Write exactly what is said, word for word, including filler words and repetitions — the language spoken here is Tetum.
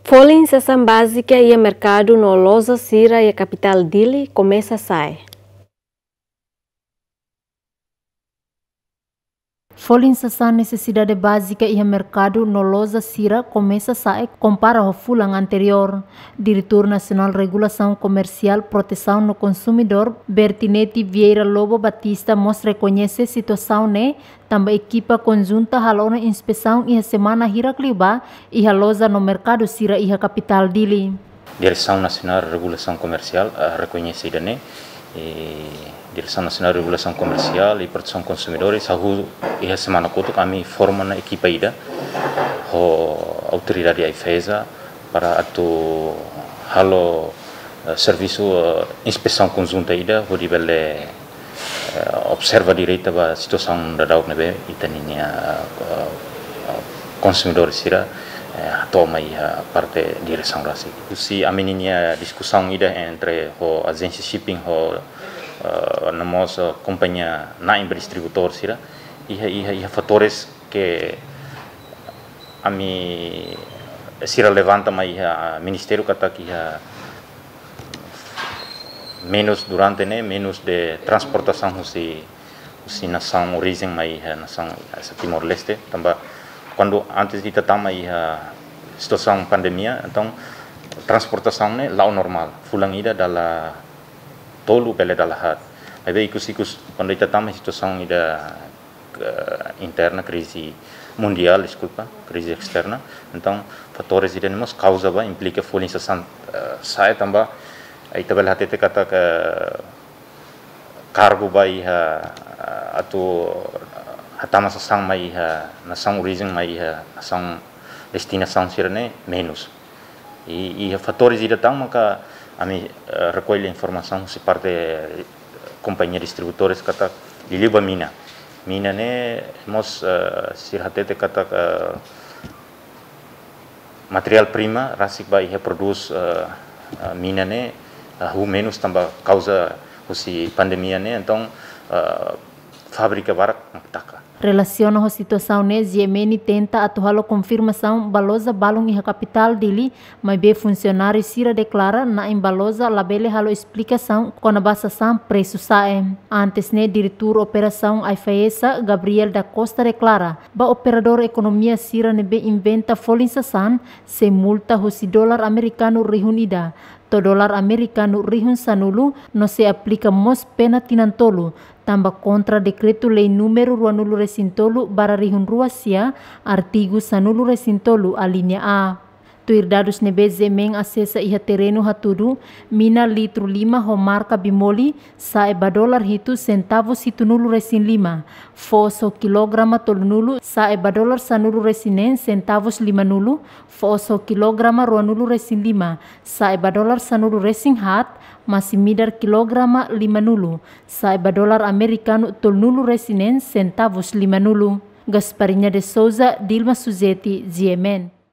Folin sasán bázika iha merkadu no loja sira iha kapitál Dili komesa sa'e. Folin sasán nesesidade bázika iha merkadu no loja sira komesa sa'e kompara ho fulan anteriór. Diretór Nasionál Regulasaun Komersiál, Protesaun no Konsumidór, Bertineti Vieira Lobo Batista mós rekoñese situasaun ne'e, tanba ekipa konjunta halo ona inspesaun iha semana hirak liubá iha loja no merkadu sira iha kapitál Dili. Diresaun Nasionál Regulasaun Komersiál, eh, rekoñese ida-ne'e, eh, Diresaun Nasionál Regulasaun Komersiál i Protesaun Konsumidores hahú iha semana kotuk ami forma ona ekipa ida ho autoridade AIFAESA para atu halo, eh, servisu, eh, inspesaun konjunta ida hodi bele, eh, observa direta ba situasaun daudaun ne'ebé ita-nia, eh, eh, konsumidór sira, eh, hato'o mai iha parte diresaun rasik. Husi ami-nia diskusaun ida entre ho ajénsia shipping ho, eh, no mós, eh, kompañia na'in ba distribuidór sira, iha, iha, iha fatores ke ami sira levanta mai iha ministériu katak iha menus durante ne'e, menus de transportasaun husi, husi nasaun orijen mai iha nasaun, eh, Timor-Leste, tanba kuandu antes ita tama iha situasaun pandemia, entaun transportasaun ne'e la'o normál, fulan ida dala tolu bele dala haat. Maibé ikus-ikus kuandu ita tama situasaun ida, eh, interna, krize mundiál, deskulpa, krize esterna. Entaun fatores ida-ne'e mós kauza ba, implika folin sasán, eh, sa'e tanba, eh, ita bele hatete katak kargu ba iha, eh, atu hatama sasán mai iha nasaun orijen mai iha nasaun destinasaun sira-ne'e menus. I, i fatores ida tan maka ami, eh, rekolle informasaun husi parte, eh, kompañia distribuidores katak liuliu ba mina. Mina ne'e mós, eh, sira hatete katak, eh, materiál prima rasik ba iha prodús, eh, eh, mina ne'e, eh, hahú menus tanba kauza husi pandemia ne'e, entaun, eh, fábrika barak mak taka. Relasiona ho situasaun ne'e, G M N tenta atu halo konfirmasaun ba loja balun iha kapitál Dili, maibé funsionáriu sira deklara na'in ba loja labele halo esplikasaun kona-ba sasán presu sa'e. Antes ne'e, Diretór Operasaun AIFAESA, Gabriel da Costa, deklara ba operadór ekonomia sira ne'ebé inventa folin sasán, sei multa husi dolar amerikanu rihun ida to'o dolar amerikanu rihun sanulu, no sei aplika mós pena tinan tolu, tanba kontra Dekretu-Lei númeru ruanulu-resin-tolu barra rihun rua sia, artigu sanulu-resin-tolu, alínea A. Tuir dadus ne'ebé G M N asesa iha terrenu hatudu, mina litru lima ho marka Bimoli sa'e ba dolar hitu sentavus hitunulu-resin-lima, foos ho kilograma tolunulu sa'e ba dolar sanulu-resin-neen sentavus limanulu, foos ho kilograma ruanulu-resin-lima sa'e ba dolar sanulu-resin-haat, masin-midar kilograma limanulu sa'e ba dolar amerikanu tolunulu-resin-neen sentavus limanulu. Gasparinha de Souza, Dilma Suzeti, G M N.